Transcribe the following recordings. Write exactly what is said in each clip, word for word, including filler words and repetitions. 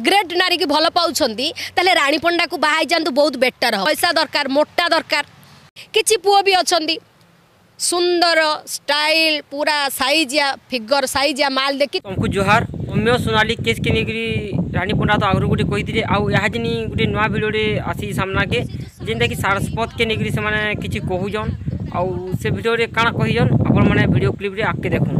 Great ନାରୀକି ଭଲ ପାଉଛନ୍ତି, ତାହେଲେ ରାଣୀ ପଣ୍ଡାକୁ ବାହା ହେଇଯାଆନ୍ତୁ, ବହୁତ ବେଟର ହେବ। ପଇସା ଦରକାର, ମୋଟା ଦରକାର। କିଛି ପୁଅ ବି ଅଛନ୍ତି, ସୁନ୍ଦର ଷ୍ଟାଇଲ, ପୁରା ସାଇଜିଆ ଫିଗର, ସାଇଜିଆ ମାଲ ଦେଖି। ତମକୁ ଜୁହାର। ସୌମ୍ୟ ସୋନାଲି କେସ୍କେ ନେଇକରି ରାନୀ ପଣ୍ଡା ତ ଆଗରୁ ଗୋଟେ କହିଥିଲେ, ଆଉ ଏହାଜିନି ଗୋଟେ ନୂଆ ଭିଡ଼ିଓରେ ଆସି ସାମ୍ନାକେ, ଯେନ୍ଟାକି ସାରସ୍ୱତକେ ନେଇକରି ସେମାନେ କିଛି କହୁଛନ୍। ଆଉ ସେ ଭିଡ଼ିଓରେ କାଣା କହିଛନ୍, ଆପଣମାନେ ଭିଡ଼ିଓ କ୍ଲିପ୍ରେ ଆଗକେ ଦେଖୁନ୍।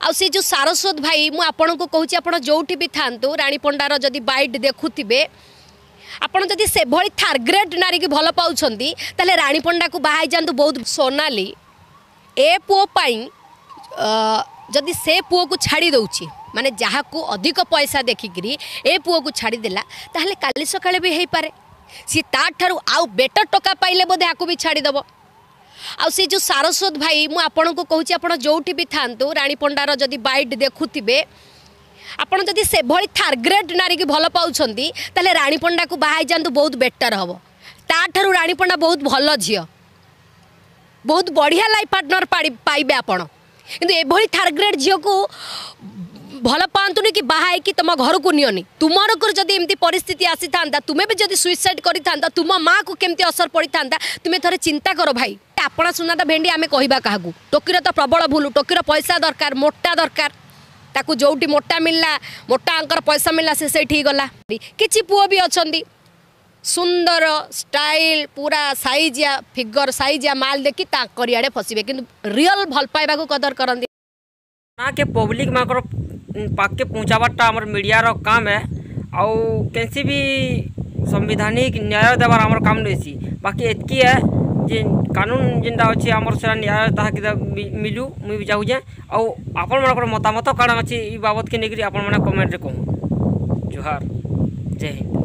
ଆଉ ସେ ଯେଉଁ ସାରସ୍ୱତ ଭାଇ, ମୁଁ ଆପଣଙ୍କୁ କହୁଛି, ଆପଣ ଯେଉଁଠି ବି ଥାଆନ୍ତୁ, ରାଣୀ ପଣ୍ଡାର ଯଦି ବାଇଟ୍ ଦେଖୁଥିବେ, ଆପଣ ଯଦି ସେଭଳି ଥାର୍ଡ଼ ଗ୍ରେଡ୍ ନାରୀକି ଭଲ ପାଉଛନ୍ତି, ତାହେଲେ ରାଣୀ ପଣ୍ଡାକୁ ବାହା ହେଇଯାଆନ୍ତୁ। ବହୁତ ସୋନାଲି ଏ ପୁଅ ପାଇଁ ଯଦି ସେ ପୁଅକୁ ଛାଡ଼ି ଦେଉଛି, ମାନେ ଯାହାକୁ ଅଧିକ ପଇସା ଦେଖିକିରି ଏ ପୁଅକୁ ଛାଡ଼ିଦେଲା, ତାହେଲେ କାଲି ସକାଳେ ବି ହେଇପାରେ ସିଏ ତାଠାରୁ ଆଉ ବେଟର ଟଙ୍କା ପାଇଲେ ବୋଧେ ଆକୁ ବି ଛାଡ଼ିଦେବ। ଆଉ ସେ ଯେଉଁ ସାରସ୍ୱତ ଭାଇ, ମୁଁ ଆପଣଙ୍କୁ କହୁଛି, ଆପଣ ଯେଉଁଠି ବି ଥାଆନ୍ତୁ, ରାଣୀ ପଣ୍ଡାର ଯଦି ବାଇଟ୍ ଦେଖୁଥିବେ, ଆପଣ ଯଦି ସେଭଳି ଥାର୍ଡ଼ ଗ୍ରେଡ୍ ନାରୀକି ଭଲ ପାଉଛନ୍ତି, ତାହେଲେ ରାଣୀ ପଣ୍ଡାକୁ ବାହା ହେଇଯାଆନ୍ତୁ, ବହୁତ ବେଟର ହେବ। ତାଠାରୁ ରାଣୀ ପଣ୍ଡା ବହୁତ ଭଲ ଝିଅ, ବହୁତ ବଢ଼ିଆ ଲାଇଫ୍ ପାର୍ଟନର ପାଇବେ ଆପଣ। କିନ୍ତୁ ଏଭଳି ଥାର୍ଡ଼ ଗ୍ରେଡ୍ ଝିଅକୁ ଭଲ ପାଆନ୍ତୁନି କି ବାହା ହେଇକି ତୁମ ଘରକୁ ନିଅନି। ତୁମର ଯଦି ଏମିତି ପରିସ୍ଥିତି ଆସିଥାନ୍ତା, ତୁମେ ବି ଯଦି ସୁଇସାଇଡ୍ କରିଥାନ୍ତା, ତୁମ ମାଆକୁ କେମିତି ଅସର ପଡ଼ିଥାନ୍ତା, ତୁମେ ଥରେ ଚିନ୍ତା କର ଭାଇ। ଆପଣ ସୁନାଟା ଭେଣ୍ଡି, ଆମେ କହିବା କାହାକୁ? ଟୋକିର ତ ପ୍ରବଳ ଭୁଲ। ଟୋକିର ପଇସା ଦରକାର, ମୋଟା ଦରକାର। ତାକୁ ଯେଉଁଠି ମୋଟା ମିଳିଲା, ମୋଟା ଆଙ୍କର ପଇସା ମିଳିଲା, ସେ ସେଇଠିକି ଗଲା। କିଛି ପୁଅ ବି ଅଛନ୍ତି, ସୁନ୍ଦର ଷ୍ଟାଇଲ, ପୁରା ସାଇଜିଆ ଫିଗର, ସାଇଜିଆ ମାଲ ଦେଖି ତାଙ୍କରି ଆଡ଼େ ଫସିବେ, କିନ୍ତୁ ରିଅଲ ଭଲ ପାଇବାକୁ କଦର କରନ୍ତି ନା କେ ପବ୍ଲିକ୍ ମାନଙ୍କର ପାଖକେ ପହଞ୍ଚାବାରଟା ଆମର ମିଡ଼ିଆର କାମ ଏ। ଆଉ କେନ୍ସି ବି ସମ୍ବିଧାନିକ ନ୍ୟାୟ ଦେବାର ଆମର କାମ ନେଇସି। ବାକି ଏତ୍କି ଏ ଯେ କାନୁନ ଯେନ୍ଟା ଅଛି ଆମର, ସେଟା ନ୍ୟାୟ ତାହାକେ ମିଲୁ ମୁଇଁ ବି ଚାହୁଁଛେ। ଆଉ ଆପଣମାନଙ୍କର ମତାମତ କାଣା ଅଛି ଇ ବାବଦକେ ନେଇକରି, ଆପଣମାନେ କମେଣ୍ଟରେ କହୁନ୍। ଜୁହାର, ଜୟ ହିନ୍ଦ।